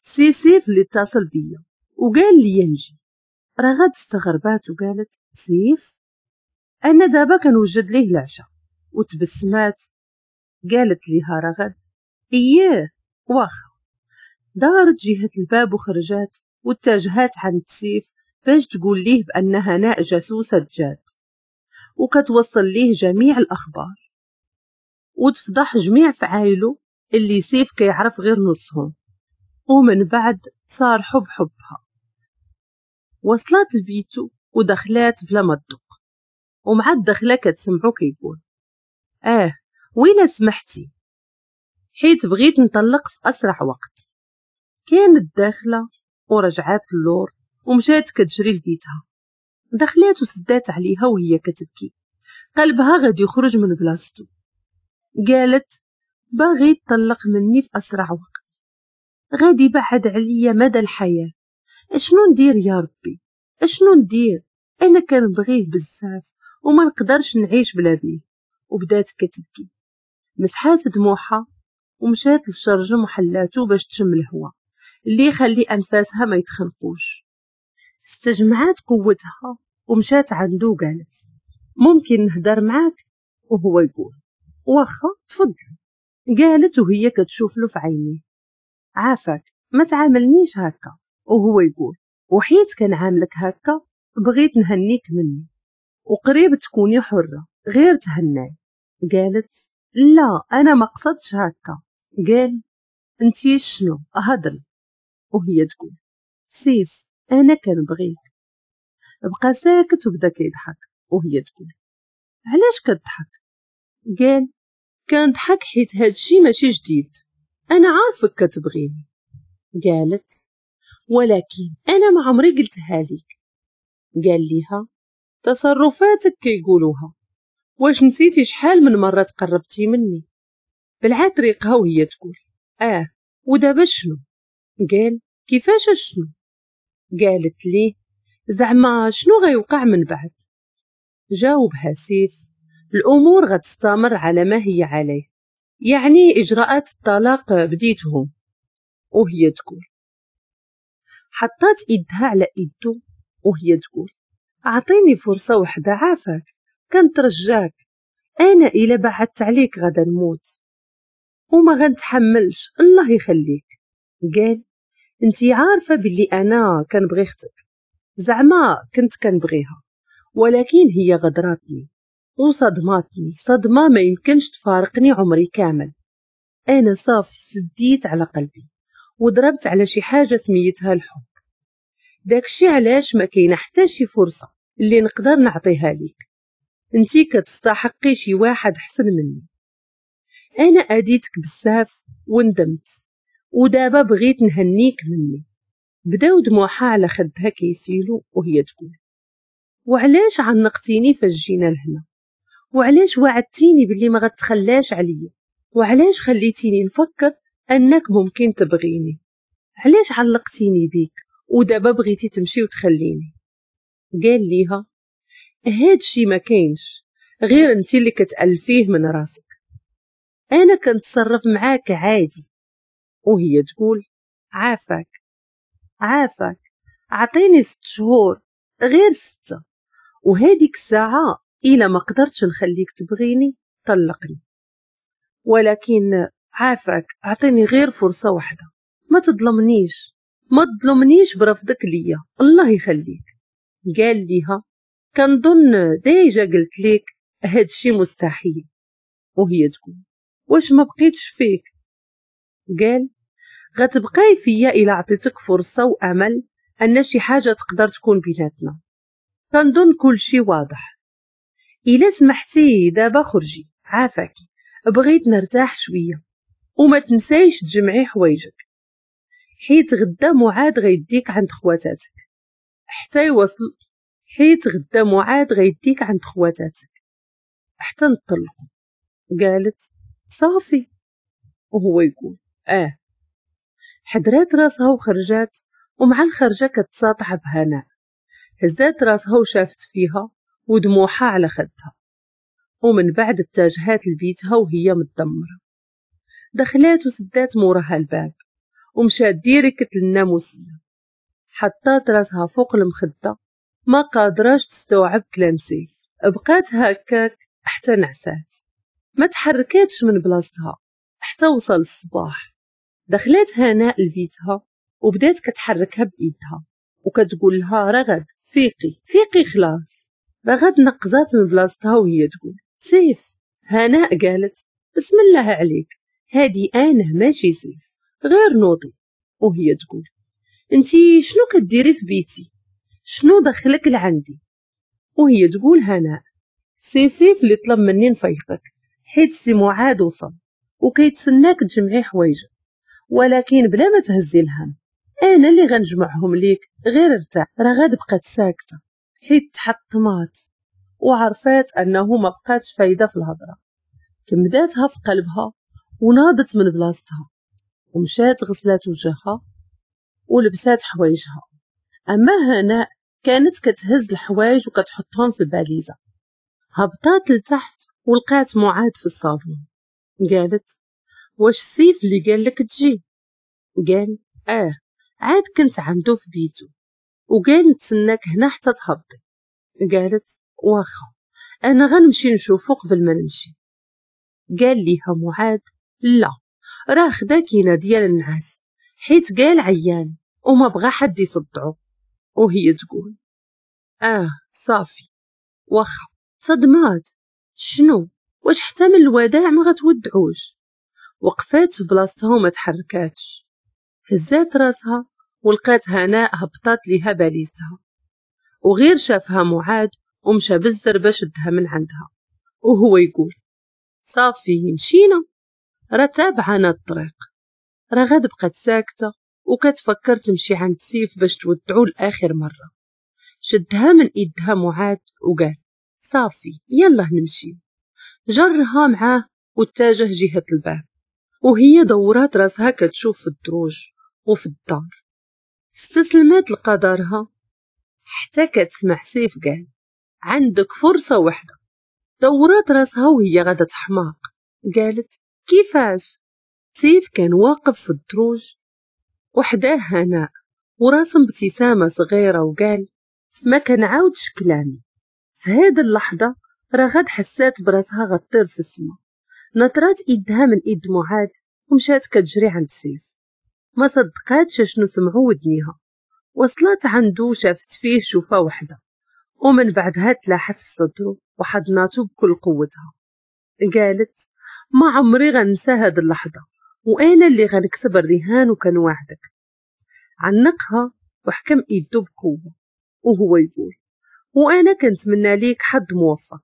سي سيف اللي اتصل بيا وقال لي نجي. رغد استغربات وقالت سيف؟ انا دابا كنوجد ليه العشاء. وتبسمات. قالت ليها رغد اياه واخا. دارت جهة الباب وخرجات واتجهات عند سيف باش تقول ليه بأن هناء جاسوسة جاد وكتوصل ليه جميع الأخبار وتفضح جميع فعايله اللي سيف كيعرف غير نصهم. ومن بعد صار حب حبها. وصلت لبيتو ودخلات بلا ما تدق، ومع الدخلة كتسمعو كيقول ويلا سمحتي حيت بغيت نطلق في أسرع وقت. كانت داخلة ورجعات اللور ومشات كتجري لبيتها. دخلات وسدات عليها وهي كتبكي، قلبها غادي يخرج من بلاصتو. قالت باغي تطلق مني في أسرع وقت، غادي بعد عليا مدى الحياة. اشنو ندير يا ربي؟ اشنو ندير؟ انا كنبغيه بزاف وما نقدرش نعيش بلا بيه. وبدات كتبكي. مسحات دموعها ومشات للشرجم وحلاتو باش تشم الهواء اللي يخلي انفاسها ما يتخنقوش. استجمعات قوتها ومشات عنده وقالت ممكن نهدر معاك؟ وهو يقول واخا تفضل. قالت وهي كتشوف له في عينيه عافاك ما تعاملنيش هكا. وهو يقول وحيت كنعاملك هكا بغيت نهنيك مني وقريب تكوني حرة غير تهناي. قالت لا انا ما قصدتش هكا. قال انتي شنو هضري؟ وهي تقول سيف انا كنبغيك. بقى ساكت وبدا كيضحك وهي تقول علاش كتضحك؟ قال كنضحك حيت هادشي ماشي جديد، انا عارفك كتبغيني. قالت ولكن انا ما عمري قلتها لك. قال ليها تصرفاتك كيقولوها، واش نسيتي شحال من مرة تقربتي مني؟ بلعات ريقها وهي تقول ودابا شنو؟ قال كيفاش شنو؟ قالت ليه زعما شنو غيوقع من بعد؟ جاوبها سيف الأمور غتستمر على ما هي عليه، يعني إجراءات الطلاق بديتهم. وهي تقول حطات إيدها على إيدو وهي تقول أعطيني فرصة وحدة عافاك، كنترجاك، أنا إلا بعدت عليك غدا نموت وما غنتحملش، الله يخليك. قال انتي عارفة باللي أنا كنبغي اختك، زعما كنت كنبغيها، ولكن هي غدراتني وصدماتني صدمة ما يمكنش تفارقني عمري كامل. أنا صافي سديت على قلبي وضربت على شي حاجة سميتها الحب، داكشي علاش ما كاينه حتى شي فرصة اللي نقدر نعطيها ليك، انتي كتستحقي شي واحد حسن مني. انا اديتك بزاف وندمت، ودابا بغيت نهنيك مني. بداو دموعها على خدها كيسيلو وهي تقول وعلاش عنقتيني فاش جينا لهنا؟ وعلاش وعدتيني باللي ما غتخلاش عليا؟ وعلاش خليتيني نفكر انك ممكن تبغيني؟ علاش علقتيني بيك ودابا بغيتي تمشي وتخليني؟ قال ليها هادشي ما كاينش، غير انت اللي كتألفيه من راسك، انا كنتصرف معاك عادي. وهي تقول عافاك عافاك، عطيني 6 شهور، غير 6، وهاديك الساعة إلا ما قدرتش نخليك تبغيني طلقني، ولكن عافاك عطيني غير فرصة واحدة، ما تظلمنيش، ما تظلمنيش برفضك ليا، الله يخليك. قال ليها كنظن déjà قلت ليك هادشي مستحيل. وهي تقول واش ما بقيتش فيك؟ قال غتبقاي فيا إلا عطيتك فرصة وأمل أن شي حاجة تقدر تكون بيناتنا، كنظن كل شي واضح، إلا سمحتي دابا خرجي عافاكي، بغيت نرتاح شوية، وما تنسايش تجمعي حوايجك حيت غدا معاد غيديك عند خواتاتك حتى يوصل، حيت غدا معاد غيديك عند خواتاتك حتى نطلقوا. قالت صافي. وهو يقول حدرات راسها وخرجات، ومع الخرجة كتساطح بهناء. هزات راسها وشافت فيها ودموعها على خدها، ومن بعد اتجهات لبيتها وهي متدمرة. دخلات وسدات موراها الباب ومشات direct للناموسية، حطات راسها فوق المخدة ما قادراش تستوعب كلام سيف. بقات هكاك حتى نعسات، ما تحركاتش من بلاصتها حتى وصل الصباح. دخلات هناء لبيتها وبدات كتحركها بايدها وكتقول لها رغد فيقي فيقي خلاص. رغد نقزات من بلاصتها وهي تقول سيف. هناء قالت بسم الله عليك، هادي انا ماشي سيف، غير نوضي. وهي تقول انتي شنو كديري في بيتي؟ شنو دخلك لعندي؟ وهي تقول هناء سي سيف اللي طلب مني نفيقك حيت سي معاد وصل وكيتسناك تجمعي حوايجك، ولكن بلا ما تهزي الهم انا اللي غنجمعهم ليك، غير ارتاح. رغد بقات ساكته حيت تحطمات وعرفات انه ما بقاتش فايده في الهضرة. كمداتها في قلبها وناضت من بلاصتها ومشات غسلات وجهها ولبسات حوايجها. اما هناء كانت كتهز الحوايج وكتحطهم في الباليزه. هبطات لتحت ولقات معاد في الصالون. قالت واش سيف اللي قال لك تجي؟ قال عاد كنت عنده في بيته وقال نتسناك هنا حتى تهبطي. قالت واخا انا غنمشي نشوفو قبل ما نمشي. قال ليها معاد لا، راه خدا كينه ديال النعاس حيت قال عيان وما بغى حد يصدعو. وهي تقول صافي واخا. صدمات شنو؟ واش حتى من الوداع ما غتودعوش؟ وقفات في بلاصتها وما تحركاتش. هزات راسها ولقات هناء هبطات ليها باليزتها، وغير شافها معاد ومشى بالزربه شدها من عندها. وهو يقول صافي مشينا، راه تابعنا الطريق. رغد بقت ساكتة وكتفكر تمشي عند سيف باش تودعو لآخر مرة. شدها من ايدها معاذ وقال صافي يلا نمشي. جرها معاه واتجه جهة الباب، وهي دورات راسها كتشوف في الدروج وفي الدار. استسلمت لقدرها حتى كتسمع سيف قال عندك فرصة واحدة. دورات راسها وهي غادا تحماق، قالت كيفاش؟ سيف كان واقف في الدروج وحداه هناء وراسم ابتسامة صغيرة وقال ما كنعاودش كلامي. في هذه اللحظة رغد حسات براسها غطير في السما، نطرات ايدها من ايد معاذ ومشات كتجري عند سيف. ما صدقاتش شنو سمعوا ودنيها. وصلت عنده وشافت فيه شوفة وحدة، ومن بعدها تلاحت في صدره وحضناته بكل قوتها. قالت ما عمري غنسى هاد اللحظة، وأنا اللي غنكسب الرهان وكنوعدك. عنقها وحكم ايده بقوة وهو يقول وأنا كنتمنى ليك حظ موفق.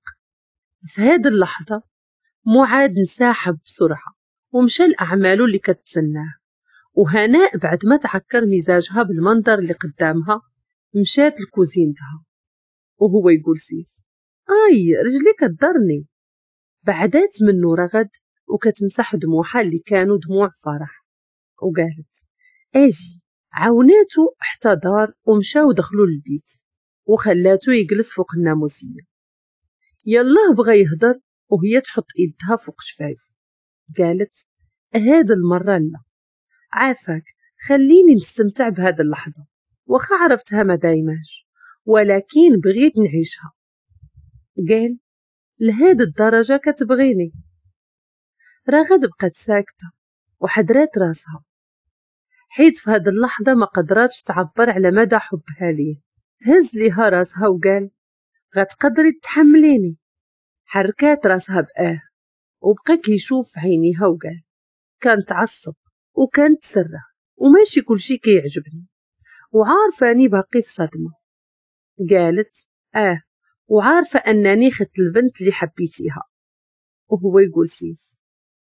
في هاد اللحظة معاذ انسحب بسرعة ومشى لأعماله اللي كتسناه، وهناء بعد ما تعكر مزاجها بالمنظر اللي قدامها مشات لكوزينتها. وهو يقول سيف اي رجلي كضرني. بعدات منه رغد وكتمسح دموعها اللي كانوا دموع فرح، وقالت اجي. عاوناتو حتى دار ومشاو دخلوا للبيت وخلاتو يجلس فوق الناموسيه. يلاه بغى يهضر وهي تحط ايدها فوق شفايفه، قالت هاد المره لا، عافاك خليني نستمتع بهاد اللحظه، واخا عرفتها ما دايماش ولكن بغيت نعيشها. قال لهاد الدرجه كتبغيني؟ رغد بقت ساكته وحدرات راسها، حيت في هاد اللحظه ما قدراتش تعبر على مدى حبها ليه. هز ليها راسها وقال غتقدري تحمليني؟ حركات راسها بآه، وبقى كيشوف في عينيها وقال كان تعصب وكان تسرع وماشي كلشي كيعجبني وعارفاني باقي في صدمه. قالت اه وعارفه انني خدت البنت اللي حبيتيها. وهو يقول سيف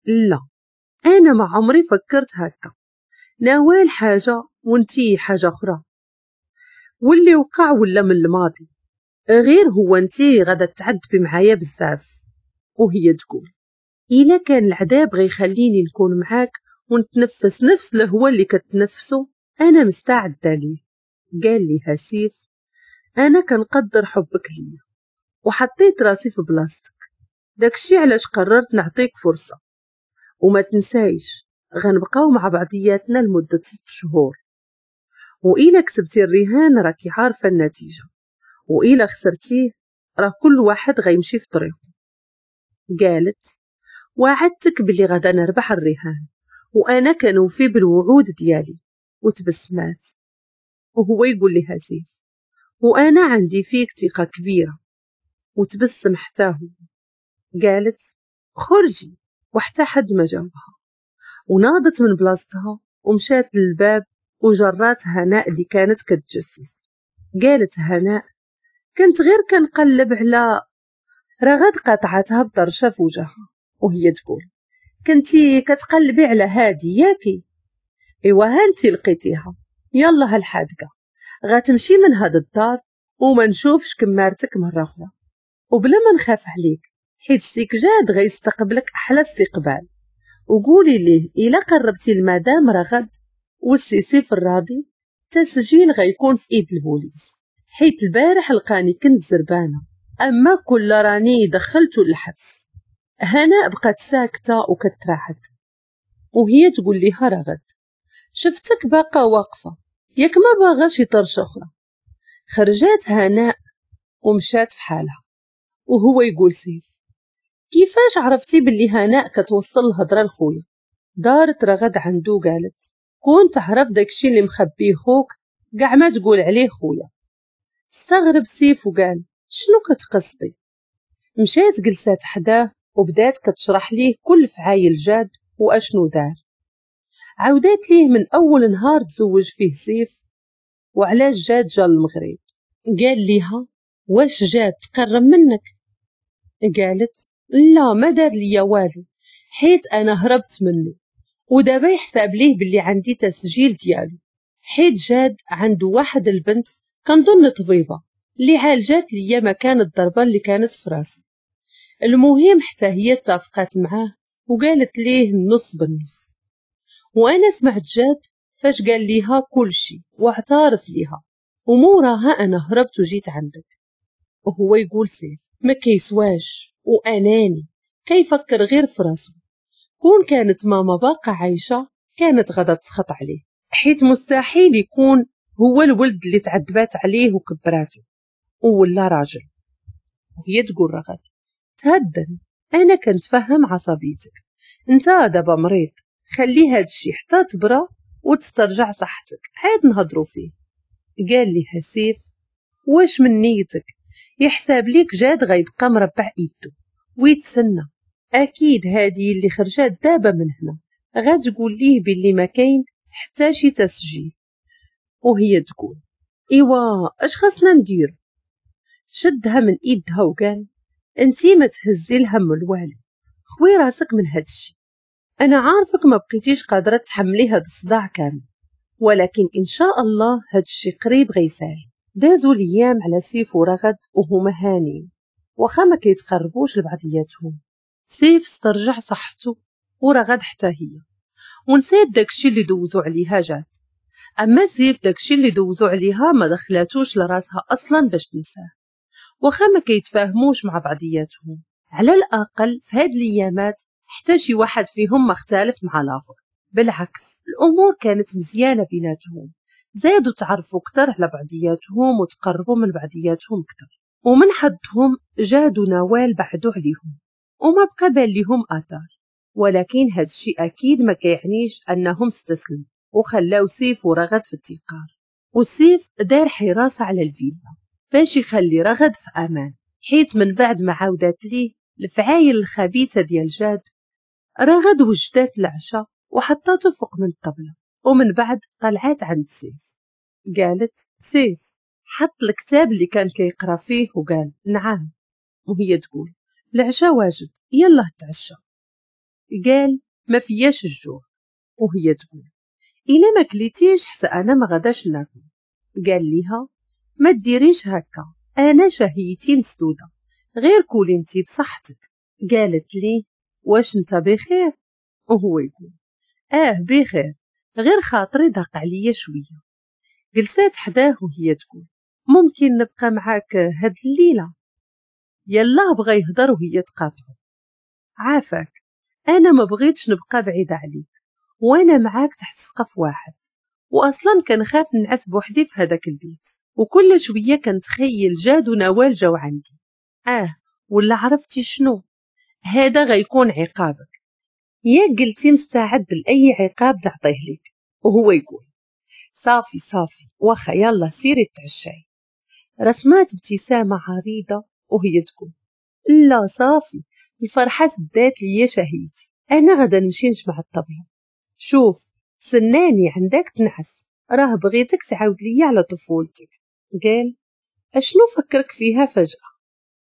لا انا ما عمري فكرت هكا، نوال حاجه وانتي حاجه اخرى، واللي وقع ولا من الماضي، غير هو انتي غادا تعذبي معايا بزاف. وهي تقول الا كان العذاب غيخليني نكون معاك ونتنفس نفس الهواء اللي كتنفسه انا مستعده ليه. قال ليها سيف انا كنقدر حبك ليا وحطيت راسي في بلاصتك، داكشي علاش قررت نعطيك فرصه، وما تنسايش غنبقاو مع بعضياتنا لمده 6 شهور، وإلا كسبتي الرهان راكي عارفه النتيجه، وإلا خسرتيه راه كل واحد غيمشي في طريقه. قالت وعدتك بلي غادا نربح الرهان وانا كنوفي بالوعود ديالي. وتبسمات. وهو يقول لها سيف وانا عندي فيك ثقه كبيره. وتبسم حتى هو. قالت خرجي، وحتى حد ما جاوبها. وناضت من بلاصتها ومشات للباب وجرات هناء اللي كانت كتجسس. قالت هناء كنت غير كنقلب على رغد. قاطعتها بطرشه في وجهها وهي تقول كنتي كتقلبي على هادي ياكي؟ ايوا هانتي لقيتيها، يلا هالحادقه غتمشي من هاد الدار وما نشوفش كمارتك مره اخرى، وبلا ما نخاف عليك حيت سيك جاد غيستقبلك احلى استقبال. وقولي ليه الا قربتي المدام رغد والسي سيف الراضي التسجيل غيكون في ايد البوليس، حيت البارح لقاني كنت زربانه، اما كل راني دخلته للحبس. هناء بقت ساكته وكتراحت وهي تقول ليها رغد شفتك باقا واقفه ياك ما باغا شي طرشه اخرى. خرجات هناء ومشات في حالها. وهو يقول سيف كيفاش عرفتي باللي هناء كتوصل الهضره لخويا؟ دارت رغد عنده قالت كون تعرف داكشي اللي مخبيه خوك كاع ما تقول عليه خويا. استغرب سيف وقال شنو كتقصدي؟ مشات جلسات حداه وبدات كتشرح ليه كل فعايل جاد واشنو دار. عاودات ليه من اول نهار تزوج فيه سيف وعلاش جاد جا للمغرب. قال ليها واش جاد تقرب منك؟ قالت لا ما دار ليا والو، حيت انا هربت منه، ودابا يحسب ليه باللي عندي تسجيل ديالو، حيت جاد عنده واحد البنت كنظن طبيبه اللي عالجات ليا مكان الضربة اللي كانت في راسي. المهم حتى هي اتفقت معاه وقالت ليه النص بالنص، وانا سمعت جاد فاش قال ليها كل شيء واعترف ليها، وموراها انا هربت وجيت عندك. وهو يقول سيف ما كيسواش واناني، كيفكر غير في راسو. كون كانت ماما باقا عايشه كانت غادا تسخط عليه، حيت مستحيل يكون هو الولد اللي تعذبات عليه وكبراته ولا راجل. وهي تقول رغد تهدن، انا كنتفهم عصبيتك، انت دابا مريض، خلي هاد الشي حتى تبرا وتسترجع صحتك عاد نهضروا فيه. قال لها سيف واش من نيتك؟ يحساب ليك جاد غيبقى مربع ايدو ويتسنى؟ اكيد هادي اللي خرجات دابا من هنا غتقول ليه باللي ما كاين حتى شي تسجيل. وهي تقول ايوا اش خاصنا ندير؟ شدها من ايدها وقال انتي ما تهزي الهم الوالو، خوي راسك من هادشي، انا عارفك ما بقيتيش قادرة تحملي هاد الصداع كامل، ولكن ان شاء الله هادشي قريب غيسالي. دازوا الايام على سيف ورغد وهما هانين، واخا ما كيتقربوش لبعضياتهم. سيف استرجع صحته ورغد حتى هي، ونسات داكشي اللي دوزو عليها جات. اما سيف داكشي اللي دوزو عليها ما دخلاتوش لراسها اصلا باش تنساه، واخا ما كيتفاهموش مع بعضياتهم. على الاقل في هاد الايامات حتى شي واحد فيهم ما اختلف مع الاخر، بالعكس الامور كانت مزيانه بيناتهم، زادوا تعرفوا اكثر على بعضياتهم وتقربوا من بعضياتهم اكثر. ومن حدهم جاد ونوال بعدوا عليهم وما بقى بان ليهم اثار، ولكن هاد الشيء اكيد ما كيعنيش انهم استسلموا وخلاو سيف ورغد في التقار. وسيف دار حراسة على الفيلا باش يخلي رغد في امان، حيت من بعد ما عاودات ليه الفعايل الخبيثة ديال جاد، رغد وجدات العشاء وحطاته فوق من الطبلة، ومن بعد طلعات عند سيف. قالت سيف حط الكتاب اللي كان كيقرا فيه وقال نعم. وهي تقول العشاء واجد يلا تعشى. قال ما فياش الجوع. وهي تقول الا ما كليتيش حتى انا ما غاداش ناكل. قال ليها ما ديريش هكا، انا شهيتي مسدودة، غير كولي انتي بصحتك. قالت لي واش انت بخير؟ وهو يقول اه بخير، غير خاطري ضاق عليا شوية. جلسات حداه وهي تقول ممكن نبقى معاك هاد الليلة؟ يلا بغى يهضر وهي تقاطعه، عافاك انا ما بغيتش نبقى بعيدة عليك، وانا معاك تحت سقف واحد، واصلا كنخاف نعس بوحدي في هذاك البيت، وكل شوية كنتخيل جاد ونوال جاو عندي. ولا عرفتي شنو؟ هذا غيكون عقابك، يا قلتي مستعد لاي عقاب نعطيه لك. وهو يقول صافي صافي واخا يلا سيري تعشاي. رسمات ابتسامة عريضة وهي تقول لا صافي الفرحة سدات ليا شهيتي، انا غدا نمشي نجمع الطبلة. شوف سناني عندك تنعس، راه بغيتك تعاود ليا على طفولتك. قال اشنو فكرك فيها فجأة؟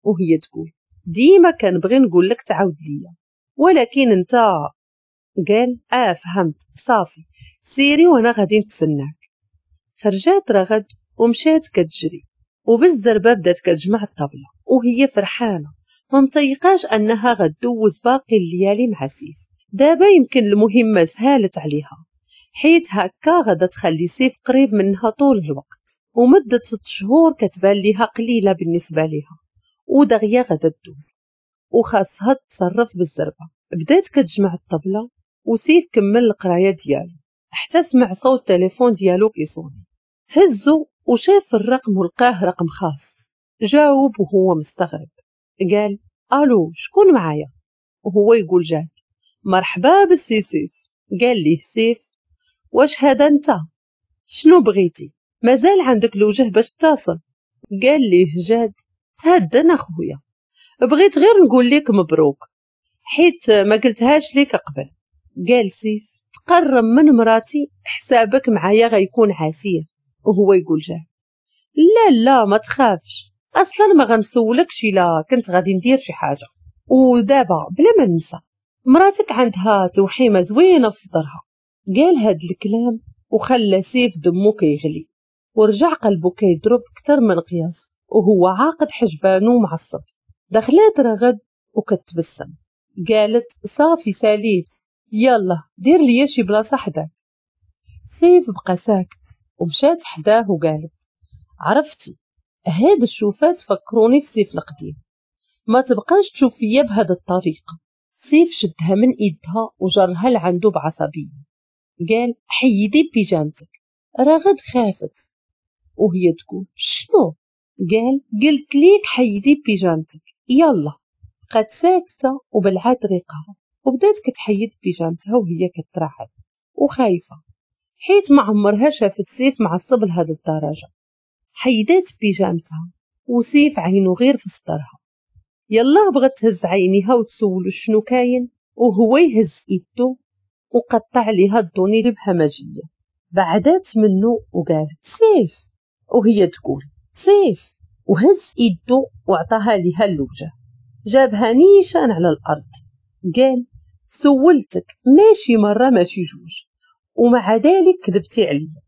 وهي تقول ديما كنبغي نقول لك تعاود ليا، ولكن انت. قال فهمت صافي سيري وانا غادي نتسناك. خرجات رغد ومشات كتجري، وبالزربه بدات كتجمع الطبلة وهي فرحانة ما مطيقاش انها غدوز باقي الليالي مع سيف. دابا يمكن المهمة سهالت عليها، حيت هكا غادا تخلي سيف قريب منها طول الوقت، ومده 6 شهور كتبان ليها قليله بالنسبة ليها، ودغيا غادا تدوز وخاصها تتصرف بالزربه. بدات كتجمع الطبلة وسيف كمل القراية ديالو حتى سمع صوت التليفون ديالو كيصوني. هزو وشاف الرقم ولقاه رقم خاص. جاوب وهو مستغرب، قال الو شكون معايا؟ وهو يقول جاد مرحبا بالسي سيف. قال ليه سيف واش هذا انت؟ شنو بغيتي؟ مازال عندك الوجه باش تتصل؟ قال ليه جاد تهدن اخويا، بغيت غير نقول لك مبروك حيت ما قلتهاش ليك قبل. قال سيف تقرب من مراتي حسابك معايا غيكون عسير. وهو يقول جاد لا لا ما تخافش، اصلا ما غنسولكش الا كنت غادي ندير شي حاجة. ودابا بلا ما ننسى مراتك عندها توحيمه زوينة في صدرها. قال هاد الكلام وخلى سيف دمو كيغلي ورجع قلبه كيضرب كتر من قياس وهو عاقد حجبانو معصب. دخلات رغد وكتبسم، قالت صافي ساليت، يلا دير لي شي بلاصة حداك. سيف بقى ساكت ومشات حداه وقالت عرفتي هاد الشوفات فكروني في سيف القديم، ما تبقاش تشوف فيا بهاد الطريقة. سيف شدها من ايدها وجرها لعندو بعصبيه، قال حيدي بيجامتك. رغد خافت وهي تقول شنو؟ قال قلت ليك حيدي بيجامتك يلا. بقات ساكته وبلعات ريقها وبدات كتحيد بيجامتها وهي كترعد وخايفة، حيت ما عمرها شافت سيف معصب لهاد الدرجة. حيدات بيجامتها وسيف عينو غير في صدرها. يلا بغات تهز عينيها وتسولو شنو كاين وهو يهز ايدو وقطع ليها الدوني بهمجيه. بعدات منه وقالت سيف، وهي تقول سيف، وهز ايدو وعطاها ليها الوجه، جابها نيشان على الارض. قال سولتك ماشي مرة ماشي جوج ومع ذلك كذبتي عليا.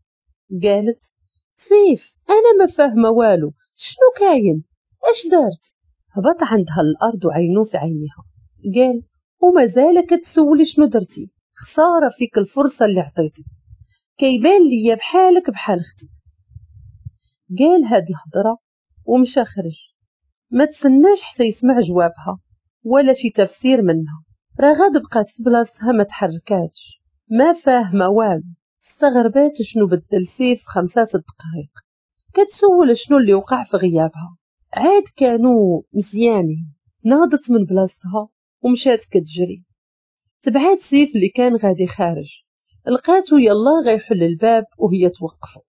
قالت سيف انا ما فاهمه والو، شنو كاين؟ اش درت؟ هبط عندها الارض وعينو في عينيها، قال ومازال كتسولي شنو درتي؟ خسارة فيك الفرصة اللي عطيتك، كيبان ليا بحالك بحال اختك. قال هاد الهضرة ومشى خرج، ما تسناش حتى يسمع جوابها ولا شي تفسير منها. رغد بقات في بلاصتها ما تحركاتش، ما فاهمه والو. استغربات شنو بدل سيف 5 دقائق، كتسول شنو اللي وقع في غيابها. عاد كانوا مزيانين. ناضت من بلاصتها ومشات كتجري، تبعات سيف اللي كان غادي خارج. لقاتو يلا غيحل الباب وهي توقفو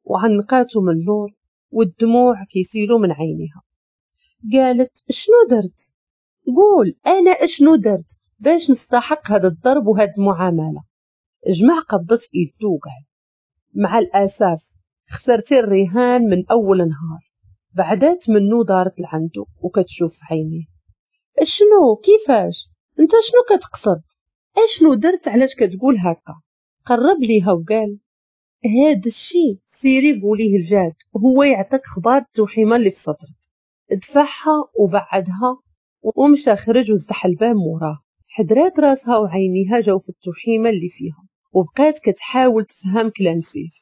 وعنقاتو من اللور والدموع كيسيلو من عينيها. قالت شنو درت؟ قول انا اشنو درت باش نستحق هذا الضرب وهاد المعاملة؟ جمع قبضه ايدو وقال مع الاسف خسرتي الرهان من اول نهار. بعدات منو دارت لعندو وكتشوف في عينيه. شنو؟ كيفاش؟ انت شنو كتقصد؟ اشنو درت؟ علاش كتقول هكا؟ قرب ليها وقال هاد الشي سيري قوليه لجاد وهو يعطيك خبار التوحيمه اللي في صدرك. دفعها وبعدها ومشى خرج وزدح الباب موراه. حدرات راسها وعينيها جاو في التوحيمه اللي فيها وبقات كتحاول تفهم كلام سيف.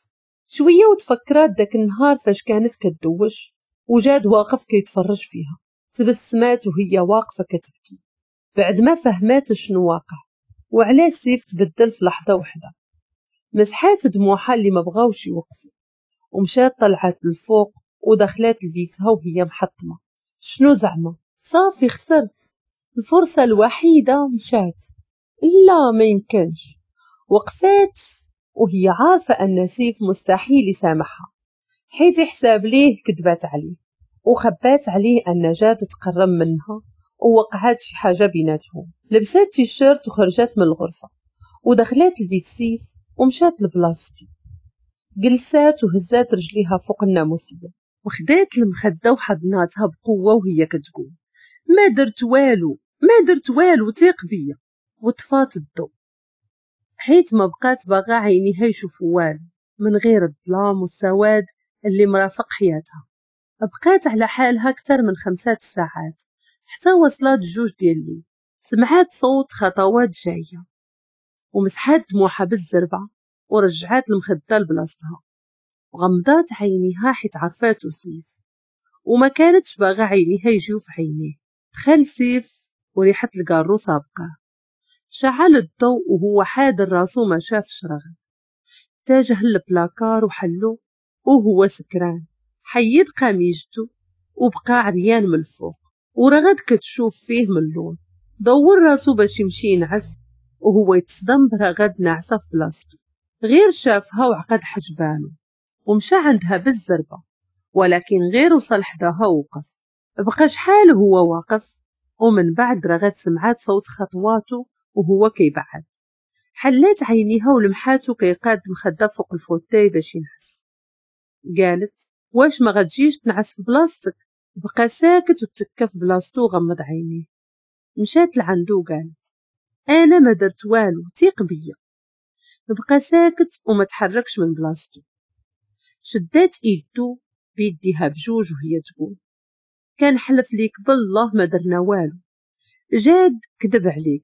شوية وتفكرات داك النهار فاش كانت كدوش وجاد واقف كيتفرج فيها. تبسمات وهي واقفة كتبكي بعد ما فهمات شنو واقع وعلاش سيف تبدل في لحظة وحده. مسحات دموعها اللي ما بغاوش يوقفوا ومشات طلعت للفوق ودخلات لبيتها وهي محطمه. شنو زعما؟ صافي خسرت الفرصة الوحيدة مشات، لا ما يمكنش. وقفات وهي عارفه ان سيف مستحيل يسامحها حيت حساب ليه كذبات عليه وخبات عليه ان جاد تقرب منها ووقعات شي حاجة بيناتهم. لبسات تيشيرت وخرجت من الغرفة ودخلات لبيت سيف ومشات لبلاصتو. جلسات وهزات رجليها فوق الناموسيه وخدات المخدة وحضناتها بقوة وهي كتقول ما درت والو، ما درت والو، ثيق بيا. وطفات الضوء حيت ما بقات باغا عينيها يشوفوا والو من غير الظلام والسواد اللي مرافق حياتها. بقات على حالها اكثر من 5 ساعات حتى وصلت 2 ديال الليل. سمعات صوت خطوات جاية ومسحات دموعها بالزربه ورجعات المخدة لبلاصتها وغمضات عينيها حيت عرفاتو سيف وما كانتش باغا عينيها يجيو في عينيه. دخل سيف وريحه الكارو سابقاه. شعل الضوء وهو حادر راسو ما شافش رغد. اتجه للبلاكار وحلو وهو سكران. حيد قميجته وبقى عريان من الفوق ورغد كتشوف فيه من اللون. دور راسو باش يمشي ينعس وهو يتصدم برغد ناعسه في بلاصتو. غير شافها وعقد حجبانه ومشى عندها بالزربه، ولكن غير وصل حداها وقف. بقى شحال هو واقف ومن بعد رغد سمعات صوت خطواته وهو كيبعد. حلات عينيها ولمحاتو كيقاد مخده فوق ال fauteuil باش ينعس. قالت واش ما غتجيش تنعس في بلاصتك؟ بقى ساكت وتكى في بلاصتو وغمض عينيه. مشات لعندو وقالت انا ما درت والو، ثيق بيا. بقى ساكت وما تحركش من بلاصتو. شدات ايدو بيديها بجوج وهي تقول كان حلف ليك بالله ما درنا والو، جاد كذب عليك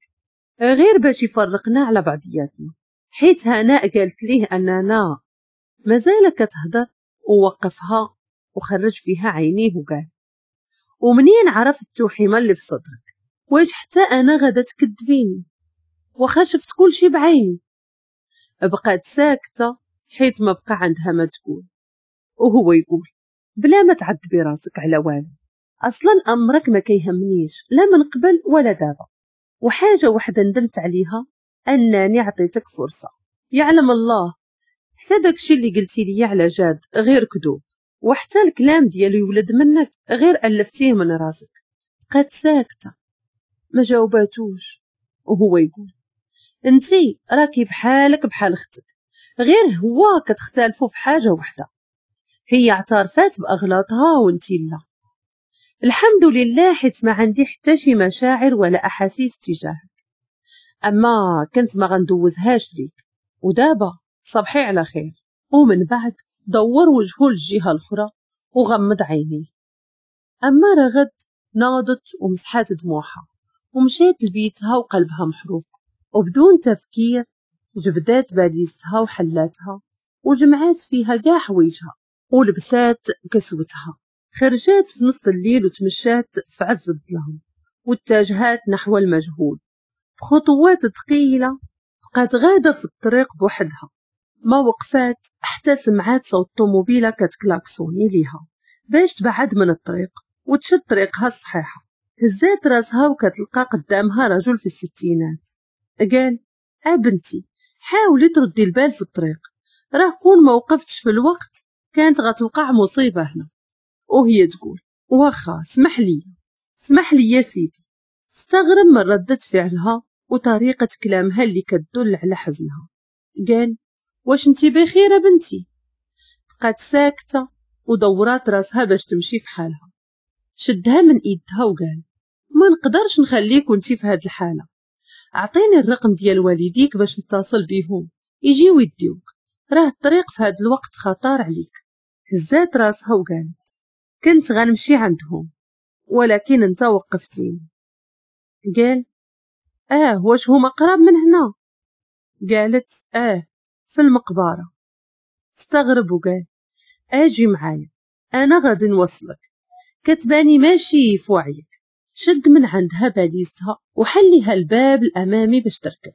غير باش يفرقنا على بعضياتنا، حيت هناء قالت ليه اننا مازال كتهضر. ووقفها وخرج فيها عينيه وقال ومنين عرفت التوحيمه اللي في صدرك؟ واش حتى انا غادا تكذبيني واخا شفت كل شي بعيني؟ بقات ساكته حيت ما بقى عندها ما تقول. وهو يقول بلا ما تعذبي راسك على والو، اصلا امرك ما كيهمنيش لا من قبل ولا دابا، وحاجه وحده ندمت عليها انني عطيتك فرصة. يعلم الله حتى داكشي اللي قلتي لي على جاد غير كذوب، وحتى الكلام ديالو يولد منك غير الفتية من راسك. بقات ساكته ما جاوباتوش. وهو يقول انتي راكي بحالك بحال اختك، غير هو كتختلفوا في حاجة وحده، هي اعترفات باغلاطها وانتي لا. الحمد لله حيت ما عندي حتى شي مشاعر ولا احاسيس تجاهك، اما كنت ما غندوزهاش ليك، ودابا صبحي على خير. ومن بعد دور وجهه للجهة الاخرى وغمض عينيه. اما رغد ناضت ومسحات دموعها ومشات لبيتها وقلبها محروق، وبدون تفكير جبدات باليزتها وحلاتها وجمعات فيها كاع حوايجها ولبسات كسوتها. خرجات في نص الليل وتمشات في عز الظلام واتجهات نحو المجهول بخطوات ثقيلة. بقات غاده في الطريق بوحدها، ما وقفات حتى سمعات صوت طوموبيله كتكلاكسوني ليها باش تبعد من الطريق وتشد طريقها الصحيحة. هزات راسها وكتلقى قدامها رجل في الستينات. قال ابنتي حاولي تردي البال في الطريق، راه كون ما وقفتش في الوقت كانت غتوقع مصيبة هنا. وهي تقول واخا اسمح لي اسمح لي يا سيدي. استغرب من ردة فعلها وطريقة كلامها اللي كتدل على حزنها. قال واش انتي بخير بنتي؟ بقات ساكتة ودورات راسها باش تمشي في حالها. شدها من ايدها وقال ما نقدرش نخليك وانتي في هاد الحالة، اعطيني الرقم ديال والديك باش نتصل بيهم يجيو يديوك، راه الطريق في هاد الوقت خطر عليك. هزات راسها وقالت كنت غنمشي عندهم ولكن انت وقفتيني. قال واش هما قراب من هنا؟ قالت في المقبرة. استغرب وقال اجي معايا انا غادي نوصلك، كتباني ماشي في وعيك. شد من عندها باليزتها وحليها الباب الامامي باش تركب.